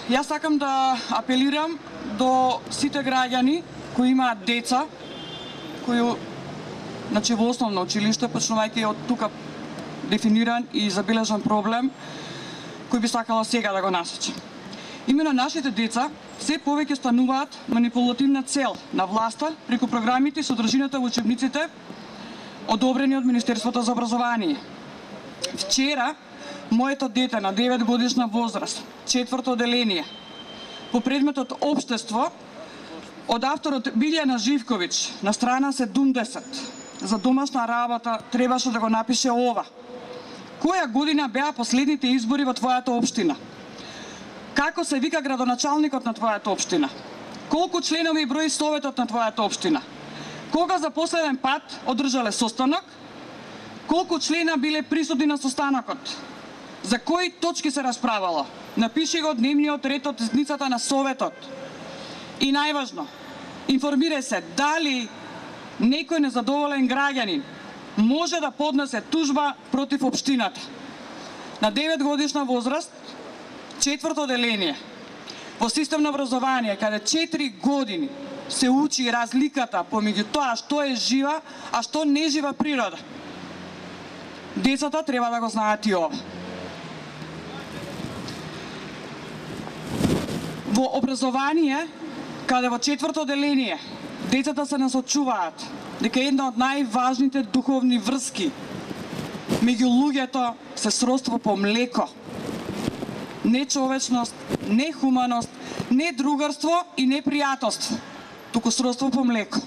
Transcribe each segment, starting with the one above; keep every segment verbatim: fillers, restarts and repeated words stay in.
Јас сакам да апелирам до сите граѓани кои имаат деца, кои значи во основно училиште, почнувајќи од тука дефиниран и забележан проблем, кој би сакала сега да го насочи. Именно нашите деца се повеќе стануваат манипулативна цел на власта преку програмите и содржината во учебниците одобрени од Министерството за образование. Вчера, моето дете на девет годишна возраст, четврто оделение, по предметот Општество, од авторот Билјана Живковиќ на страна седумдесет, за домашна работа требаше да го напише ова. Која година беа последните избори во твојата општина? Како се вика градоначалникот на твојата општина? Колку членови и брои советот на твојата општина? Кога за последен пат одржале состанок? Колку члена биле присутни на состанокот? За кои точки се расправало? Напиши го дневниот ред од седницата на советот. И најважно, информирај се дали некој незадоволен граѓанин може да поднесе тужба против општината. На девет годишна возраст, четврто оделение, во систем на образование, каде четири години се учи разликата помеѓу тоа што е жива, а што не жива природа. Децата треба да го знаат и ова. Во образование, каде во четврто оделение, децата се насочуваат дека една од најважните духовни врски меѓу луѓето се сродство по млеко. Не човечност, не хуманост, не другарство и не пријателство, туку сродство по млеко.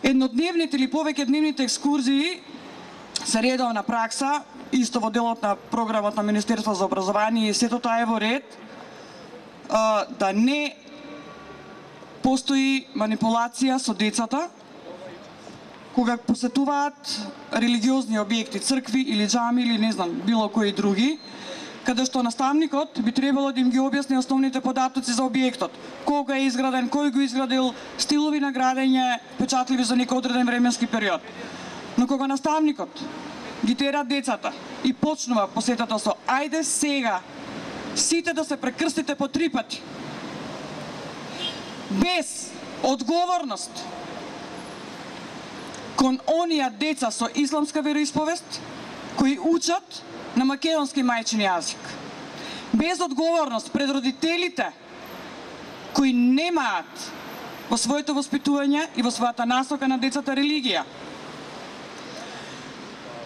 Еднодневните или повеќе дневните екскурзии се редовна пракса, исто во делот на програмот на Министерство за образование и сето тоа е во ред, да не постои манипулација со децата кога посетуваат религиозни објекти, цркви или џами или не знам, било кои други, каде што наставникот би требало да им ги објасни основните податоци за објектот. Кога е изграден, кој го изградил, стилови на градење, печатливи за некој одреден временски период. Но кога наставникот ги тера децата и почнува посетата со ајде сега сите да се прекрстите по три пати, без одговорност кон оние деца со исламска вероисповест кои учат на македонски мајчин јазик, без одговорност пред родителите кои немаат во своето воспитување и во својата насока на децата религија.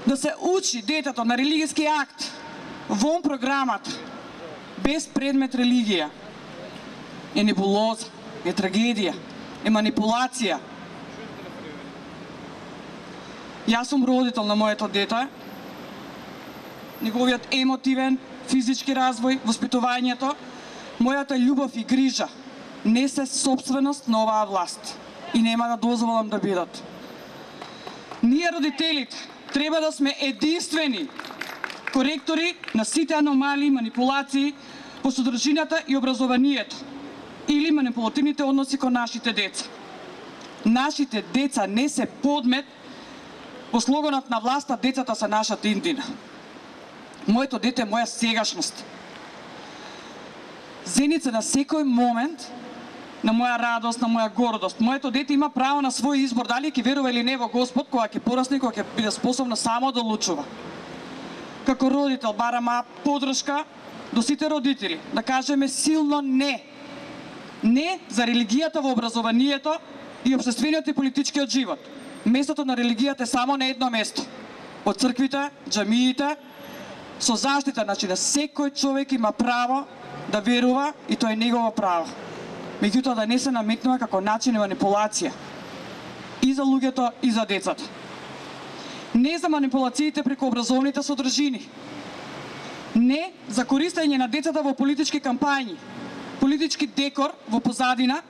Да се учи детето на религиски акт вон програмата без предмет религија е небулоза, е трагедија, е манипулација. Јас сум родител на моето дете. Неговиот емотивен, физички развој, воспитувањето, мојата љубов и грижа не се собственост на оваа власт и нема да дозволам да бидат. Ние родителите треба да сме единствени коректори на сите аномалии, манипулации по содржината и образованието или манипулативните односи кон нашите деца. Нашите деца не се подмет по слоганот на власта, децата се нашата иднина. Моето дете е моја сегашност. Зеница на секој момент на моја радост, на моја гордост. Моето дете има право на свој избор, дали ќе верува или не во Господ, кога ќе порасне, кога ќе биде способно само да одлучува. Како родител барам подршка до сите родители, да кажеме силно не. Не за религијата во образованието и општествениот и политичкиот живот. Местото на религијата е само на едно место. Од црквите, џамиите, со заштита, значи да секој човек има право да верува и тоа е негово право. Меѓутоа да не се наметнува како начин и манипулација и за луѓето и за децата. Не за манипулациите преку образовните содржини. Не за користење на децата во политички кампањи, политички декор во позадина,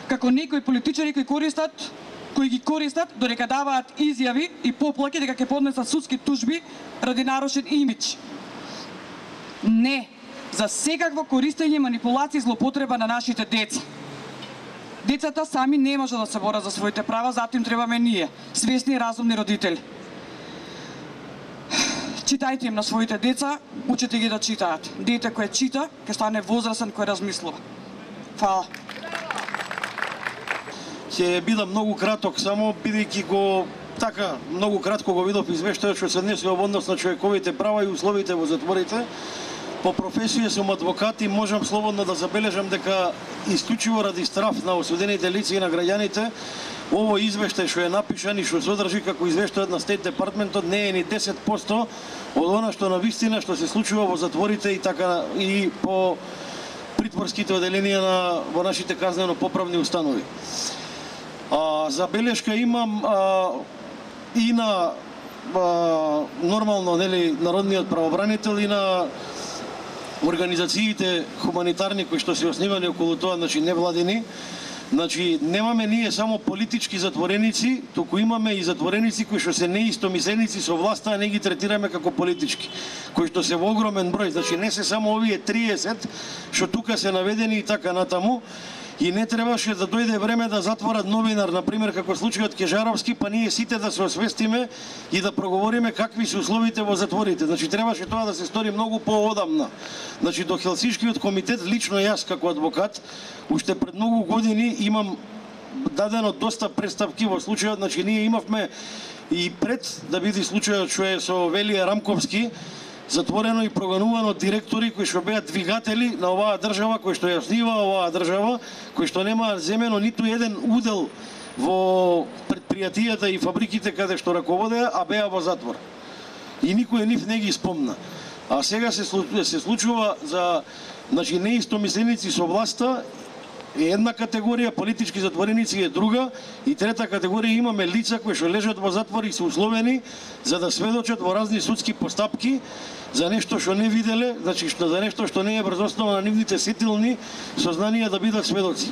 како некои политичари кои користат кои ги користат додека даваат изјави и поплаки дека ќе поднесат судски тужби ради нарушен имидж. Не за секакво користење, манипулација и злоупотреба на нашите деца. Децата сами не може да се борат за своите права, затоа им требаме ние, свесни и разумни родители. Читајте им на своите деца, учете ги да читаат. Дете кое чита, ќе стане возрасен кој размислува. Фала. Ќе бидам многу краток, само бидејќи го така многу кратко го видов извештајот што се однесува во однос на човековите права и условите во затворите. По професија сум адвокат и можам слободно да забележам дека исклучиво ради страф на осудените лица и на граѓаните, овој извештај што е напишан и што содржи како извештајот на Стейт Департментот не е ни десет посто од она што на вистина што се случува во затворите и така и по притворските оделенија на во нашите казнено-поправни установи. А, забелешка имам а, и на а, нормално нели народниот правобранител и на организациите хуманитарни кои што се основани околу тоа, значи невладени. Значи немаме ние само политички затвореници, туку имаме и затвореници кои што се неистомисленици со власта, а не ги третираме како политички, кои што се во огромен број. Значи не се само овие триесет што тука се наведени и така натаму. И не требаше да дојде време да затворат новинар, например, како случајот Кежаровски, па ние сите да се освестиме и да проговориме какви се условите во затворите. Значи, требаше тоа да се стори многу поодамна. Значи, до Хелсинскиот комитет, лично јас како адвокат, уште пред многу години имам дадено доста представки во случајот, значи, ние имавме и пред да биде случајот што е со Велија Рамковски, затворено и прогонувано директори кои што беа двигатели на оваа држава, кои што ја основа оваа држава, кои што немаа земено ниту еден удел во предпријатијата и фабриките каде што раководеа, а беа во затвор. И никој нив не ги спомна. А сега се се случува за, значи, неистомисленици со власта е една категорија, политички затвореници е друга, и трета категорија имаме лица кои што лежат во затвор и се условени за да сведочат во разни судски постапки за нешто што не виделе, значи што за нешто што не е врз основа на нивните сетилни сознанија да бидат сведоци.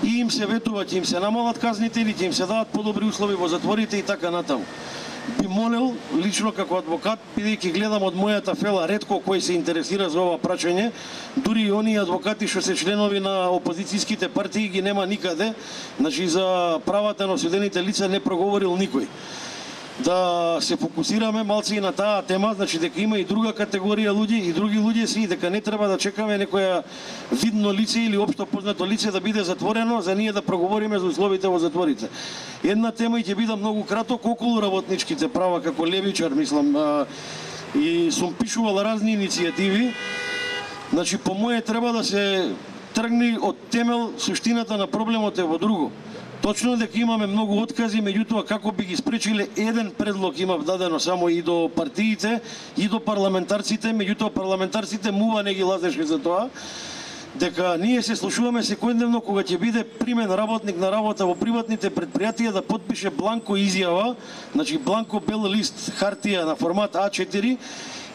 И им се ветува, ќе им се намалат казните или ќе им се дадат подобри услови во затворите и така натаму. Би молел, лично како адвокат, бидејќи гледам од мојата фела ретко кој се интересира за ова прашање, дури и оние адвокати што се членови на опозицијските партии ги нема никаде, значи за правата на осудените лица не проговорил никој. Да се фокусираме малце и на таа тема, значи дека има и друга категорија луѓе и други луѓе си, и дека не треба да чекаме некоја видно лице или општо познато лице да биде затворено за ние да проговориме за условите во затворите. Една тема и ќе бидам многу краток околу работничките права како левичар, мислам, а, и сум пишувал разни иницијативи. Значи по моје треба да се тргне од темел, суштината на проблемот е во друго. Точно дека имаме многу откази, меѓутоа како би ги спречиле, еден предлог имав дадено само и до партиите, и до парламентарците, меѓутоа парламентарците мува не ги лазеше за тоа, дека ние се слушуваме секојдневно кога ќе биде примен работник на работа во приватните предпријатија да потпише бланко изјава, значи бланко бел лист хартија на формат А четири,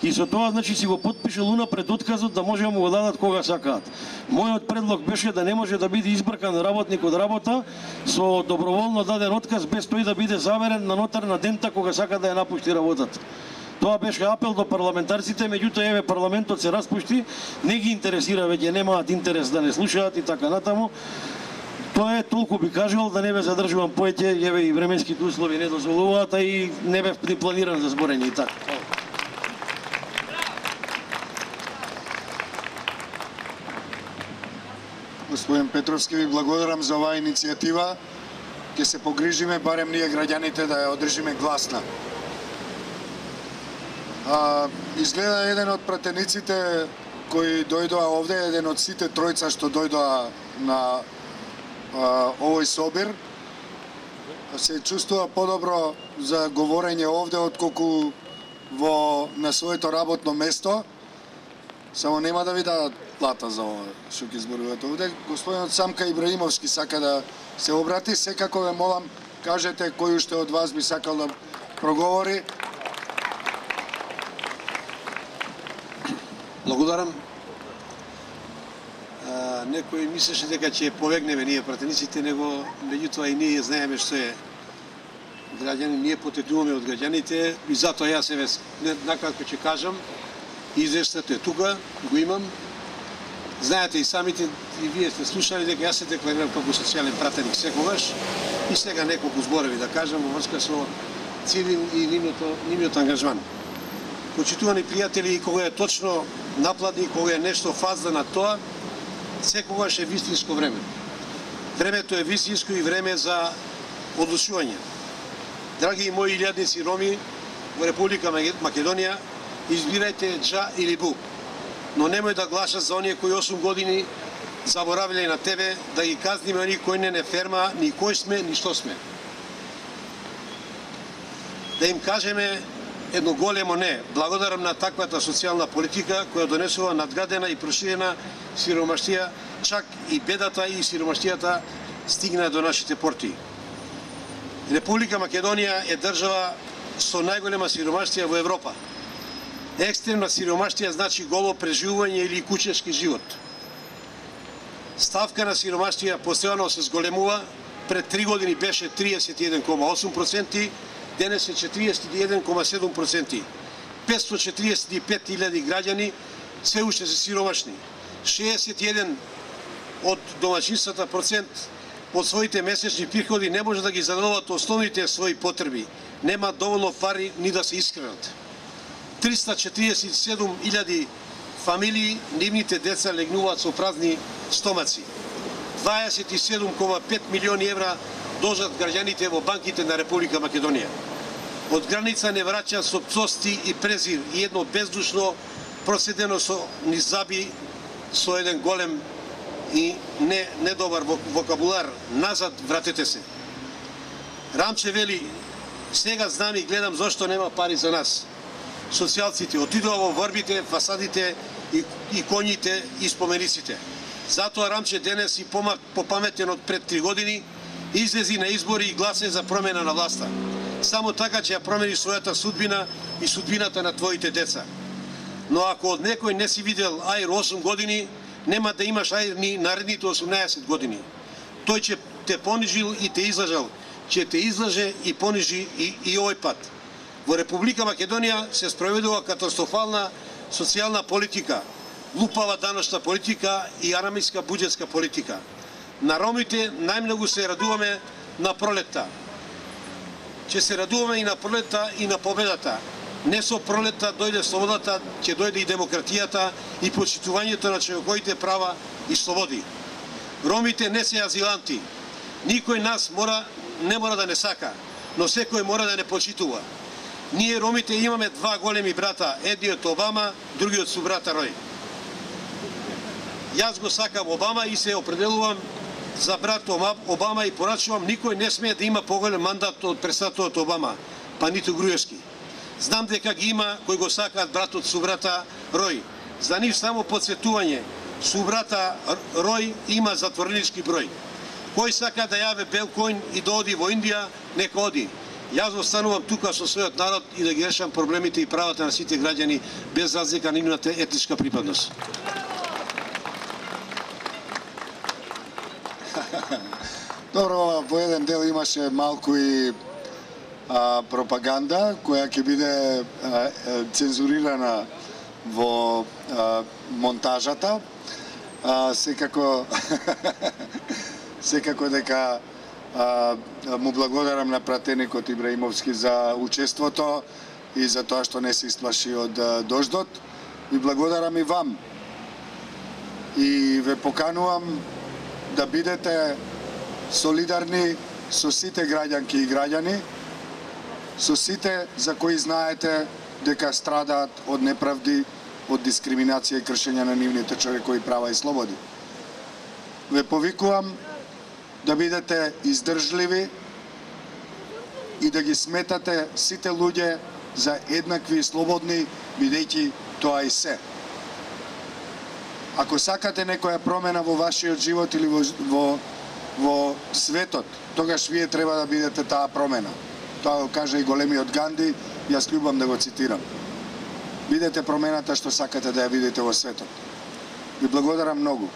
и со тоа, значи, си го потпишел унапред отказот да може да му го дадат кога сакаат. Мојот предлог беше да не може да биде избркан работник од работа со доброволно даден отказ без тој да биде заверен на нотар на дента кога сака да ја напушти работата. Тоа беше апел до парламентарците, меѓутоа еве парламентот се распушти, не ги интересира веќе, немаат интерес да не слушаат и така натаму. Тоа е, толку би кажал, да не ве задржувам поеќе, еве и временските услови не дозволуваат, а и не бев ни планиран за зборење и така. Господин Петровски, ви благодарам за оваа иницијатива. Ќе се погрижиме, барем ние граѓаните, да ја одржиме гласна. А, изгледа еден од пратениците кои дојдоа овде, еден од сите тројца што дојдоа на а, овој собир, се чувствува подобро за говорење овде отколку во на своето работно место. Само нема да ви дадат плата за ова што ќе зборувате овде. Господинот Самка Ибраимовски сака да се обрати. Секако ве молам, кажете кој уште од вас би сакал да проговори. Благодарам. Некој мислеше дека ќе побегнеме ние пратениците, него меѓутоа и ние знаеме што е граѓани, ние потекнуваме од граѓаните и затоа јас еве накратко ќе кажам. Извештајот е тука, го имам. Знаете и самите, и вие сте слушали дека јас се декларирам како социјален пратеник секогаш и сега неколку зборови да кажам во врска со цивил и нивниот ангажман. Почитувани пријатели, кога е точно напладни, кога е нешто фазда на тоа, секогаш е вистинско време. Времето е вистинско и време за одлучување. Драги мои илјадници роми во Република Македонија, избирајте джа или бу, но немој да гласат за оние кои осум години заборавиле на тебе, да ги казниме оние кои не не ферма ни кој сме, ни што сме. Да им кажеме едно големо не. Благодарам на таквата социјална политика која донесува надградена и проширена сиромаштија, чак и бедата и сиромаштијата стигна до нашите порти. Република Македонија е држава со најголема сиромаштија во Европа. Екстремна сиромаштија значи голо преживување или кучешки живот. Ставка на сиромаштија постојано се зголемува, пред три години беше триесет и еден кома осум проценти, денес е четириесет и еден кома седум проценти. петстотини и четириесет и пет илјади граѓани се уште се сиромашни. шеесет и еден од домаќинствата процент од своите месечни приходи не може да ги задоволат основните своји потреби. Нема доволно пари ни да се искранат. триста четириесет и седум илјади фамилии, нивните деца легнуваат со празни стомаци. дваесет и седум кома пет милиони евра должат граѓаните во банките на Република Македонија. Од граница не враќа со пцости и презир и едно бездушно проседено со низаби со еден голем и не недобар вокабулар: назад вратете се. Рамче вели: сега знам и гледам зошто нема пари за нас. Социјалците отидоа во врбите, фасадите и, и коњите и спомениците. Затоа Рамче денес и попаметен од пред три години излези на избори и гласе за промена на власта. Само така ќе ја промени својата судбина и судбината на твоите деца. Но ако од некој не си видел аир осум години, нема да имаш аир ни наредните осумнаесет години. Тој ќе те понижил и те излажал, ќе те излаже и понижи и, и овој пат. Во Република Македонија се спроведува катастрофална социјална политика, лупава даночна политика и арамиска буџетска политика. На ромите најмногу се радуваме на пролетта. Ќе се радуваме и на пролетта и на победата. Не со пролетта дојде слободата, ќе дојде и демократијата и почитувањето на човековите права и слободи. Ромите не се азиланти. Никој нас мора, не мора да не сака, но секој мора да не почитува. Ние ромите имаме два големи брата, едниот Обама, другиот су брата Рој. Јас го сакам Обама и се определувам за брат Обама и порачувам, никој не смее да има поголем мандат од председателот Обама, па ниту Груевски. Знам дека ги има кои го сакаат братот су брата Рој. За нив само подсветување. Су брата Рој има затворенички број. Кој сака да јаве бел коњ и да оди во Индија, нека оди. Јас останувам тука со својот народ и да ги решам проблемите и правата на сите граѓани без разлика на нивната етничка припадност. Добро, во еден дел имаше малку и а, пропаганда која ќе биде а, цензурирана во а, монтажата. А, секако секако дека а, му благодарам на пратеникот Ибраимовски за учеството и за тоа што не се исплаши од а, дождот. Ви благодарам и вам. И ве поканувам да бидете солидарни со сите граѓанки и граѓани, со сите за кои знаете дека страдаат од неправди, од дискриминација и кршење на нивните човекови права и слободи. Ве повикувам да бидете издржливи и да ги сметате сите луѓе за еднакви и слободни, бидејќи тоа и се. Ако сакате некоја промена во вашиот живот или во, во, во светот, тогаш вие треба да бидете таа промена. Тоа го каже и големиот Ганди, јас љубам да го цитирам. Бидете промената што сакате да ја видите во светот. Ви благодарам многу.